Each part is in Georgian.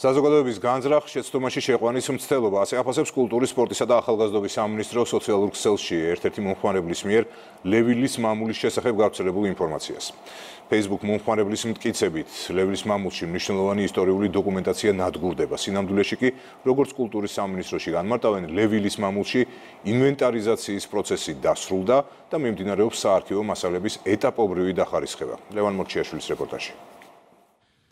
საზოგადოების განზრახ შეცდომაში შეყვანის მცდელობა ასე აფასებს კულტურის, სპორტისა და ახალგაზრდობის სამინისტრო სოციალურ ქსელში ერთ-ერთი მომხმარებლის მიერ ლევილის მამულის შესახებ გავრცელებულ ინფორმაციას. Facebook მომხმარებლის მტკიცებით, ლევილის მამულში მნიშვნელოვანი ისტორიული დოკუმენტაცია ნადგურდება. სინამდვილეში კი, როგორც კულტურის სამინისტროში განმარტავენ, ლევილის მამულში ინვენტარიზაციის პროცესი დასრულდა და მიმდინარეობს საარქივო მასალების ეტაპობრივი დახარისხება. ლევან მორჩიაშვილის რეპორტაჟი.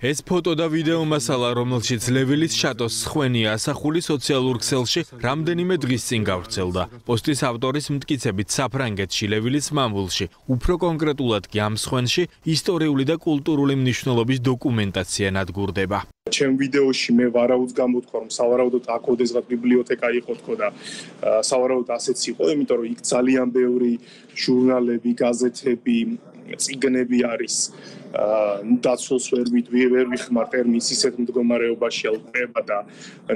ეს ფოტო და ვიდეო მასალა, რომელშიც ლევილის შატოს სხვენია ასახული სოციალურ ქსელში, რამდენიმე დღის წინ გავრცელდა. პოსტის ავტორის მტკიცებით, საფრანგეთში ლევილის მამულში, უფრო კონკრეტულად კი ამ სხვენში, ისტორიული და კულტურული მნიშვნელობის დოკუმენტაცია ნადგურდება. ჩემ ვიდეოში მე ვარაუდს გამოთქვა, რომ სავარაუდოდ აქ ოდესღაც ბიბლიოთეკა იყო თქო და სავარაუდოდ ასეც იყო, იმიტომ რომ იქ ძალიან ბევრი ჟურნალები, გაზეთები, წიგნები არის. დაცვას ვერ ვიხმარ ტერმინს ისეთ მდგომარეობაში ალყება და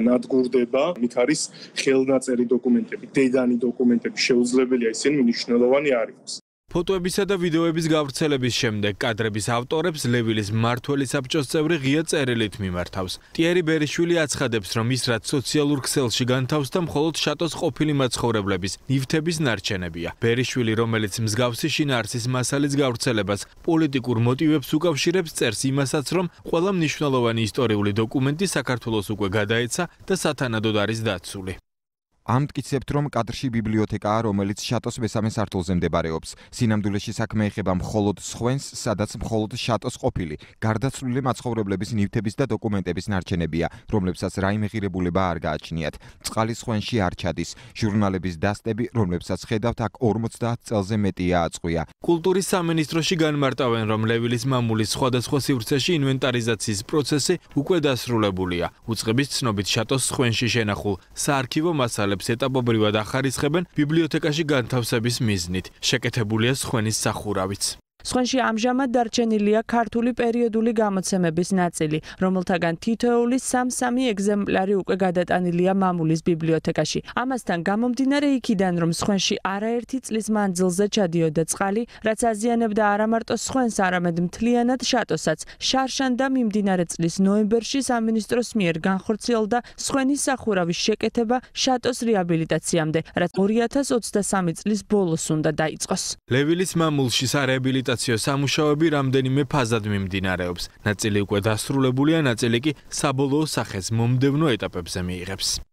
ნადგურდება. იქ არის ხელნაწერი დოკუმენტები, დედანი დოკუმენტები, შეუძლებელია ისინი მნიშვნელოვანი არ იყოს. ფოტოებისა და ვიდეოების გავრცელების შემდეგ კადრების ავტორებს ლევილის მმართველი საბჭოს წევრი ღია წერილით მიმართავს. ტიერი ბერიშვილი აცხადებს, რომ ის რაც სოციალურ ქსელში განთავსდა მხოლოდ შატოს ყოფილი მაცხოვრებლების ნივთების ნარჩენებია. ბერიშვილი, რომელიც მსგავსი შინაარსის მასალის გავრცელებას პოლიტიკურ მოტივებს უკავშირებს, წერს იმასაც, რომ ყველა მნიშვნელოვანი ისტორიული დოკუმენტი საქართველოს უკვე გადაეცა და სათანადოდ არის დაცული. ამტკიცებთ, რომ კადრში ბიბლიოთეკაა, რომელიც შატოს მესამე სართულზე მდებარეობს. სინამდვილეში საქმე ეხება მხოლოდ სხვენს, სადაც მხოლოდ შატოს ყოფილი, გარდაცვლილი მაცხოვრებლების ნივთების და დოკუმენტების ნარჩენებია, რომლებსაც რაიმე ღირებულება არ გააჩნიათ. წყალი სხვენში არ ჩადის. ჟურნალების დასტები, რომლებსაც ხედავთ, აქ 50 წელზე მეტია აწყვია. კულტურის სამინისტროში განმარტავენ, რომ ლევილის მამულის სხვადასხვა სივრცეში ინვენტარიზაციის პროცესი უკვე დასრულებულია. უწყების ცნობით შატოს სხვენში შენახულ საარქივო მასალებს ეტაპობრივად ახარისხებენ ბიბლიოთეკაში განთავსების მიზნით. შეკეთებულია სხვენის სახურავიც. სხვენში ამჟამად დარჩენილია ქართული პერიოდული გამოცემების ნაწილი, რომელთაგან თითოეული 3-3 ეგზემპლარი უკვე გადატანილია მამულის ბიბლიოთეკაში. ამასთან გამომდინარე იქიდან, რომ სხვენში არაერთი წლის მანძილზე ჩადიოდა წყალი, რაც აზიანებდა არა მარტო სხვენს, არამედ მთლიანად შატოსაც. შარშან და მიმდინარე წლის ნოემბერში სამინისტროს მიერ განხორციელდა სხვენის სახურავის შეკეთება შატოს რეაბილიტაციამდე, რაც 2023 წლის ბოლოს უნდა დაიწყოს. ლევილის მამულში სარეაბილიტაციო სამუშაოები რამდენიმე ფაზად მიმდინარეობს. ნაწილი უკვე დასრულებულია, ნაწილი კი საბოლოო სახეს მომდევნო ეტაპებზე მიიღებს.